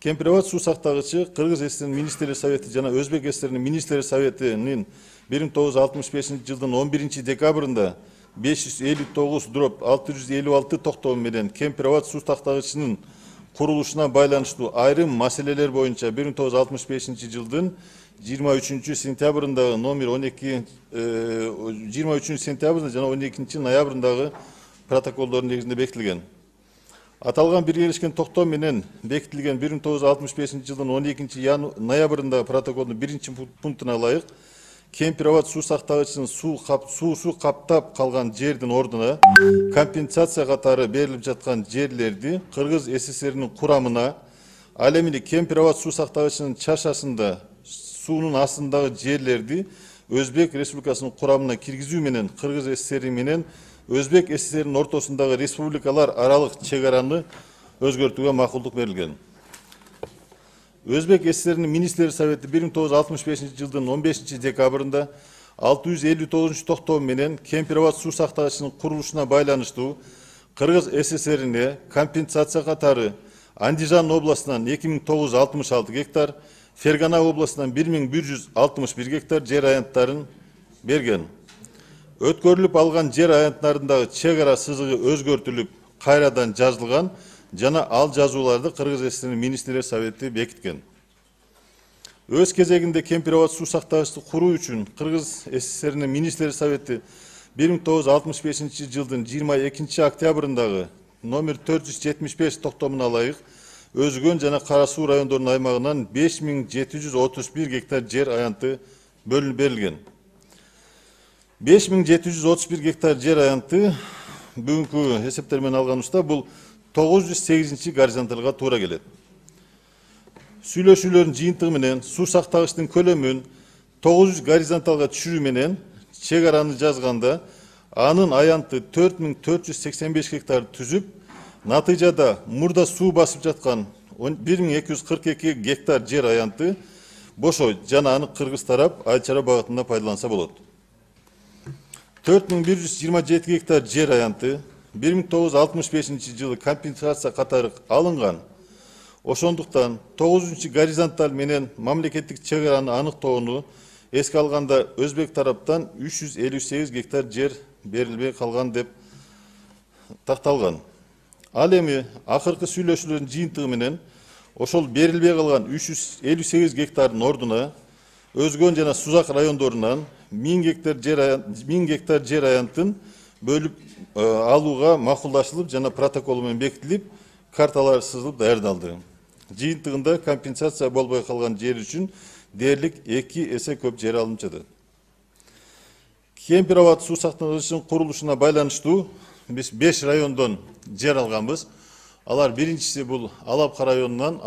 Кемпир-Абад суу сактагычы Кыргыз ССР Министрлер Совети жана Өзбек ССР Министрлер Советинин 1965 жылдын 11 декабрында 559/656 токтому менен Кемпир-Абад суу сактагычынын курулушуна байланыштуу айрым маселелер боюнча 1965 жылдын 23 сентябрындагы номер 12 23 сентябрында жана 12 ноябрындагы протоколдордун негизинде бекитилген. Аталган биргелешкен токтом менен бекитилген 1965 жылдын 12 ноябрындагы протоколдун 1 пунктуна ылайык Кемпир-Абад суу сактагычынын суусу каптап калган жердин ордуна компенсация катары берилип жаткан жерлерди Кыргыз ССРнин курамына, ал эми Кемпир-Абад суу сактагычынын чашасында суунун астындагы жерлерди Өзбек Республикасынын курамына киргизүү менен Кыргыз ССР менен Өзбек ССРнин ортосундагы республикалар аралык чек араны өзгөртүүгө макулдук берилген. Өзбек ССРнин Министрлер Совети 1965 жылдын 15 декабрында 659 токтом менен Кемпир-Абад суу сактагычынын курулушуна байланыштуу Кыргыз ССРине компенсация катары Андижан областынан 2966 гектар, Фергана областынан 1161 гектар жер аянттарын берген. Өткөрүлүп алган жер аянттарындагы чек ара сызыгы өзгөртүлүп, кайрадан жазылган жана ал жазууларды Кыргыз ССРнин Министрлер Совети бекиткен. Өз кезегинде Кемпир-Абад суу сактагычты куруу үчүн Кыргыз ССРнин Министрлер Совети 1965 жылдын 22 октябрындагы номер 475 токтомуна ылайык Өзгөн жана Кара суу райондорунун аймагынан 5731 гектар жер аянты бөлүнүп берилген. 5731 гектар жер аянты бүгүнкү эсептер менен алганыбызда бул 908 горизонталга туура келет. Сүйлөшүүлөрдүн жыйынтыгы менен суу сактагычтын көлөмүн 900 горизонталга түшүрүү менен чек араны жазганда анын аянты 4485 гектар түзүп, натыйжада мурда суу басып жаткан 1242 гектар жер аянты бошойт жана аны кыргыз тарап Айыл чарба багытында пайдаланса болот. 4127 гектар жер аянты 1965 жылы компенсация катары алынган. Ошондуктан 9 горизонталь менен мамлекеттик чек араны аныктоону эске алганда Өзбек тараптан 358 гектар жер берилбей калган деп такталган. Ал эми акыркы сүйлөшүүлөрдүн жыйынтыгы менен ошол берилбей калган 358 гектардын ордуна Өзгөн жана Сузак райондорунан 1000 гектар жер аянтын бөлүп алууга макулдашылып жана протокол менен бекитилип, карталар сызылып даярдалды. Жыйынтыгында компенсация болбой калган жер үчүн дээрлик 2 эсе көп жер алынып жатат. Кемпир-Абад суу сактагычынын курулушуна байланыштуу биз 5 райондон жер алганбыз. Алар биринчиси бул Алапка районунан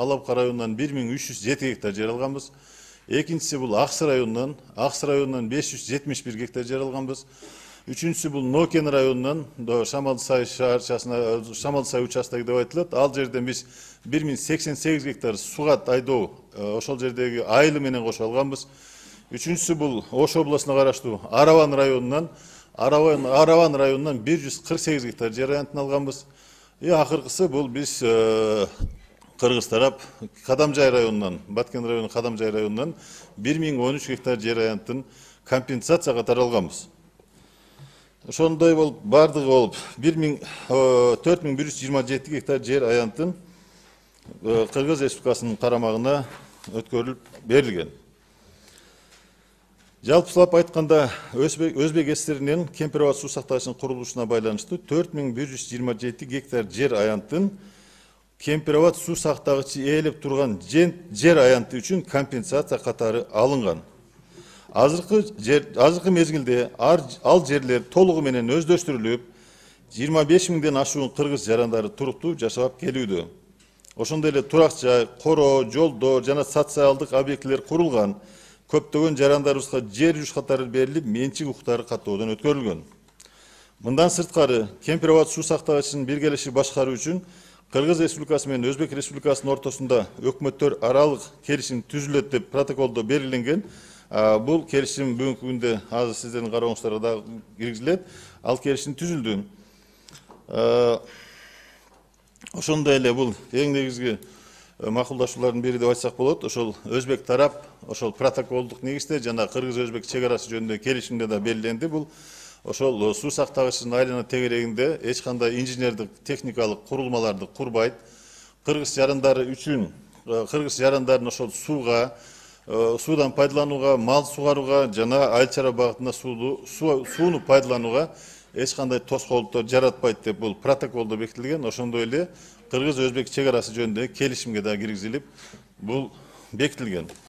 1307 гектар жер алганбыз. Экинчиси бул Аксы районунан 571 гектар жер алганбыз. Үчүнчүсү бул Нокен районунан Шамалды Сай шаарчасына, Шамалды Сай участогу деп айтылат. Ал жерден биз 1088 гектар сугат айдоо, ошол жердеги айылы менен кошо алганбыз. Үчүнчүсү бул Ош областына караштуу Араван районунан 148 гектар жер аянтын алганбыз. Акыркысы бул биз Кыргыз тарап Кадамжай районунан, Баткен району Кадамжай районунан 1013 гектар жер аянтын компенсация катары алганбыз. Ошондой болуп бардыгы болуп 4127 гектар жер аянтын Кыргыз Республикасынын карамагына өткөрүлүп берилген. Жалпылап айтканда Өзбек ССРинин Кемпир-Абад суу сактагычынын курулушуна байланыштуу 4127 гектар жер аянтын Кемпир-Абад суу сактагычы ээлеп турган жер аянты үчүн компенсация катары алынган. Азыркы мезгилде ал жерлер толугу менен өздөштүрүлүп, 25 миңден ашуун кыргыз жарандары туруктуу жашап келүүдө. Ошондой эле турак жай, короо, жолдор жана социалдык объектилер курулган. Көптөгөн жарандарыбызга жер жүш катары берилип, менчик укуктары каттоодон өткөрүлгөн. Мындан сырткары, Кемпир-Абад суу сактагычынын биргелеши башкаруу үчүн Кыргыз Республикасы менен Өзбек Республикасынын ортосунда өкмөттөр аралык келишим түзүлөт деп протоколдо белгиленген. Бул келишим бүгүнкү күндө азыр сиздердин карооңуздарга да киргизилет. Ал келишим түзүлдү. Ошондой эле бул эң негизги макулдашуулардын бири деп айтсак болот. Ошол өзбек тарап ошол протоколдук негизде жана кыргыз-өзбек чек арасы жөнүндө келишимде да белгиленди. Бул ошол суу сактагычтын айлана тегерегинде эч кандай инженердик техникалык курулмаларды курбайт. Кыргыз жарандары үчүн кыргыз жарандарын ошол сууга, суудан пайдаланууга, мал сугарууга жана айыл чарба багытында сууну пайдаланууга эч кандай тоскоолдуктар жаратпайт деп бул протоколдо бекитилген. Ошондой эле кыргыз-өзбек чек арасы жөнүндө келишимге да киргизилип, бул бекитилген.